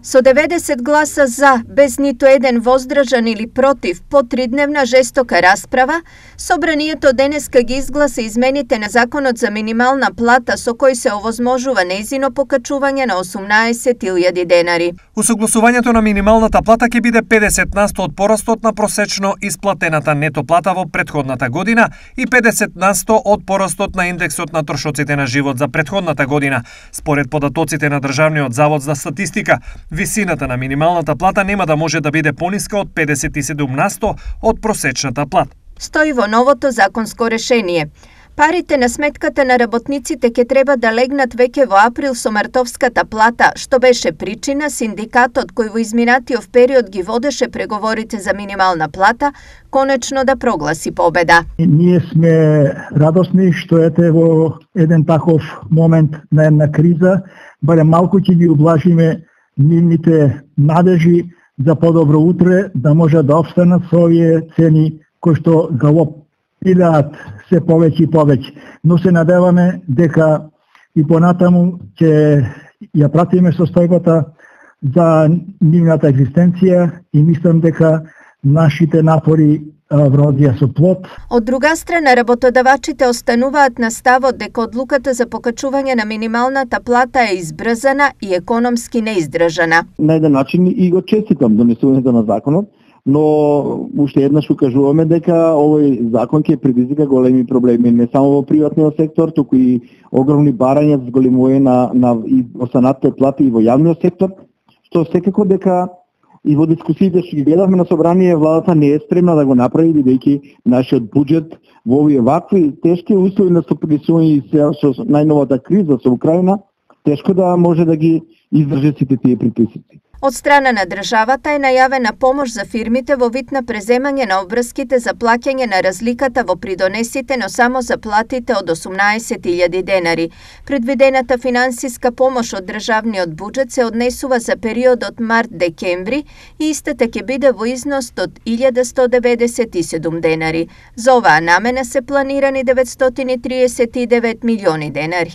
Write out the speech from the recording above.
Со 90 гласа за, без ниту еден воздржан или против, по тридневна жестока расправа, собранието денеска ги изгласа измените на Законот за минимална плата со кој се овозможува нејзино покачување на 18.000 денари. Усогласувањето на минималната плата ќе биде 50% од порастот на просечно исплатената нето плата во претходната година и 50% од порастот на индексот на трошоците на живот за претходната година. Според податоците на Државниот завод за статистика, висината на минималната плата нема да може да биде пониска од 57% од просечната плата. Стои во новото законско решение. Парите на сметката на работниците ќе треба да легнат веќе во април со мартовската плата, што беше причина синдикатот кој во изминатиот период ги водеше преговорите за минимална плата, конечно да прогласи победа. Ние сме радосни што ете во еден таков момент на една криза, барем малку ќе ги ублажиме нивните надежи за подобро утре, да може да обстанат со овие цени кои што галопираат се повеќе и повеќе. Но се надеваме дека и понатаму ќе ја пратиме состојбата за нивната екзистенција и мислам дека нашите напори вродија со плод. Од друга страна, работодавачите остануваат на ставот дека одлуката за покачување на минималната плата е избрзана и економски неиздржана. На еден начин и го честитам донесувањето на законот, но уште еднаш укажуваме дека овој закон ќе предизвика големи проблеми не само во приватниот сектор, туку и огромни барања за зголемување на останатите плати и во јавниот сектор, што секако дека и во дискусиите што ги гледавме на собрание, владата не е спремна да го направи, бидејќи нашиот буџет во овие вакви тешки услови на сопресување со најновата криза со Украина, тешко да може да ги издржи сите тие притисоци. Од страна на државата е најавена помош за фирмите во вид на преземање на обврските за плаќање на разликата во придонесите, но само за платите од 18.000 денари. Предвидената финансиска помош од државниот буџет се однесува за периодот март-декември и истата ќе биде во износ од 1.197 денари. За оваа намена се планирани 939 милиони денари.